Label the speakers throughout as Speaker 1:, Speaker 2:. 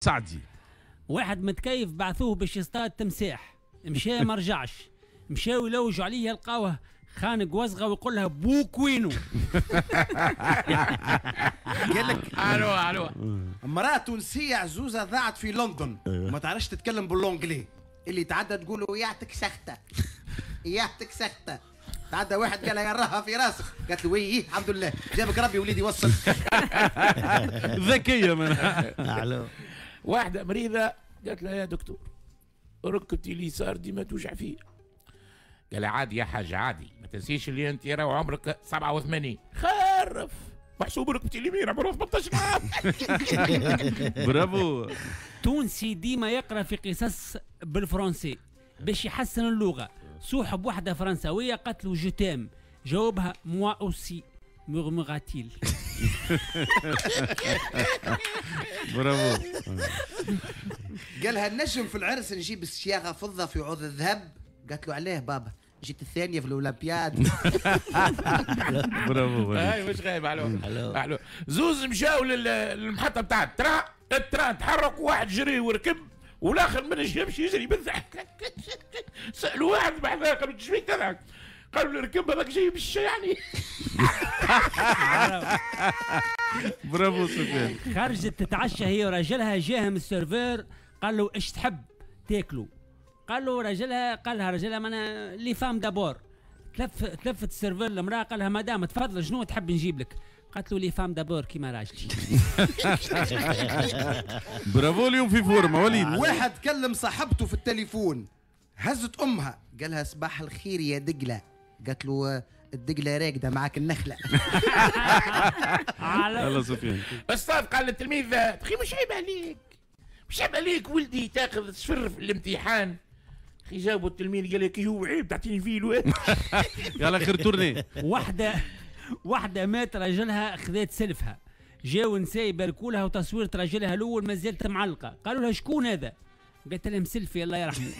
Speaker 1: سعدي.
Speaker 2: واحد متكيف بعثوه باش يصطاد تمساح، مشى ما رجعش، مشاو يلوجوا عليه يلقاوه خانق وزغه ويقول لها بوك وينو.
Speaker 3: قال لك
Speaker 4: الو الو.
Speaker 3: امرأة تونسية عزوزة ضاعت في لندن، ما تعرفش تتكلم بال anglais، اللي تعدى تقول له يعطيك سخته يعطيك سخته. تعدى واحد قال لها يراها في راسك، قالت له oui الحمد لله جابك ربي وليدي وصل.
Speaker 1: ذكية من.
Speaker 4: واحدة مريضة قالت لها يا دكتور ركبتي اليسار ديما توجع فيا. قال لها عادي يا حاج عادي، ما تنسيش اللي انت راهو عمرك 87. خرف محسوب ركبتي اليمين عمره 18 عام.
Speaker 1: برافو.
Speaker 2: تونسي ديما يقرا في قصص بالفرنسي باش يحسن اللغة. صوحب واحدة فرنساويه قالت له je t'aime، جاوبها moi aussi murmura-t-il.
Speaker 1: برافو.
Speaker 3: قالها النجم في العرس نجيب الصياغة فضة في عوض الذهب، قالت له علاه بابا جيت الثانية في الاولمبياد.
Speaker 1: برافو.
Speaker 4: هاي مش غايب. الو الو. زوز مشاو للمحطه بتاع ال train، ال train تحرك وواحد جري وركب والاخر ما نجمش يجري بالضحك. سالوا واحد بحذاه قالوا ايش فيك تضحك؟ قالوا له ركب هذاك جاي بالشي يعني.
Speaker 1: برافو سفيان.
Speaker 2: خرجت تتعشى هي وراجلها، جاهم ال serveur قال له ايش تحب تاكلوا؟ قال له راجلها، قال لها راجلها ما انا les femmes d'abord. تلفت ال serveur المراة قال لها مدام تفضل شنو تحب نجيب لك؟ قالت له les femmes d'abord كيما راجلي.
Speaker 1: برافو اليوم في forme وليد.
Speaker 3: واحد كلم صاحبته في التليفون، هزت امها قالها صباح الخير يا دقله، قالت له الدقله راقده معاك النخلة.
Speaker 1: يلا سفيان.
Speaker 4: استاذ قال للتلميذ اخي مش عيب عليك، مش عيب عليك ولدي تاخذ صفر في الامتحان. اخي جاوبوا التلميذ قال لك هو عيب تعطيني فيه.
Speaker 1: يلا خير tournée.
Speaker 2: واحدة مات راجلها خذات سلفها، جاو نساء يباركوا لها وتصويرة راجلها الأول ما زالت معلقة، قالوا لها شكون هذا؟ قالت لهم سلفي الله يرحمه.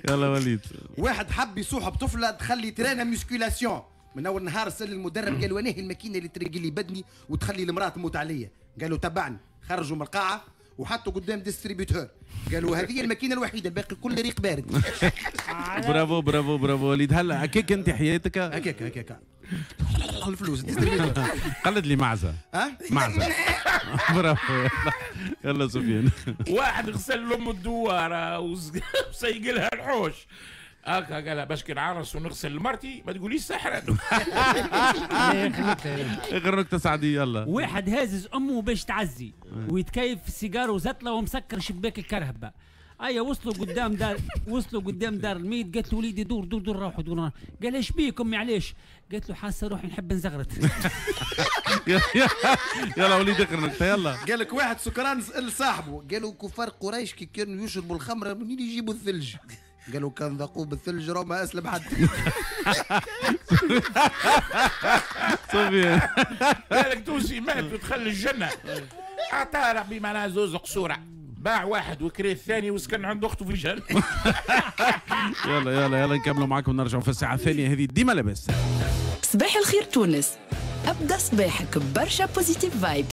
Speaker 1: يلا وليد.
Speaker 3: واحد حب يصوحب طفلة تخلي ترانا musculation، من أول نهار سأل المدرب قال وين هي الماكينة اللي ترقي لي بدني وتخلي المرأة تموت عليا؟ قالوا تبعني. خرجوا من القاعة وحطوا قدام distributeur، قالوا هذه الماكينة الوحيدة الباقي كل ريق بارد.
Speaker 1: برافو برافو برافو وليد. هلا هكاك انت حياتك
Speaker 3: هكاك هكاك الفلوس.
Speaker 1: قلد لي معزة.
Speaker 3: ها
Speaker 1: معزة. برافو. يلا سفيان.
Speaker 4: واحد غسل لام الدواره وسيق لها الحوش هكا، قالها باش كي نعرس ونغسل لمرتي ما تقوليش سحرة.
Speaker 1: اخر نكتة سعدي يلا.
Speaker 2: واحد هازز امه باش تعزي ويتكيف في السيجار وزتله ومسكر شباك الكرهبه. ايا وصلوا قدام دار، وصلوا قدام دار الميت، قالت له وليدي دور دور دور روحوا دور. قال ايش بيك امي علاش؟ قالت له حاسه روحي نحب نزغرت.
Speaker 1: يلا وليد اخر نكتة يلا.
Speaker 3: قال لك واحد سكران سال صاحبه قالوا كفار قريش كي كانوا يشربوا الخمرة منين يجيبوا الثلج؟ قالوا كان ذاقوه بالثلج راه ما اسلم حد.
Speaker 1: صوفيا.
Speaker 4: قال لك تونسي مات ودخل الجنة، اعطاه ربي معناها زوز قصوره، باع واحد وكري الثاني وسكن عند اخته في الجنة.
Speaker 1: يلا يلا يلا نكملوا معاكم نرجعوا في الساعة الثانية هذه ديما لاباس.
Speaker 5: صباح الخير تونس، ابدا صباحك برشا positive vibes.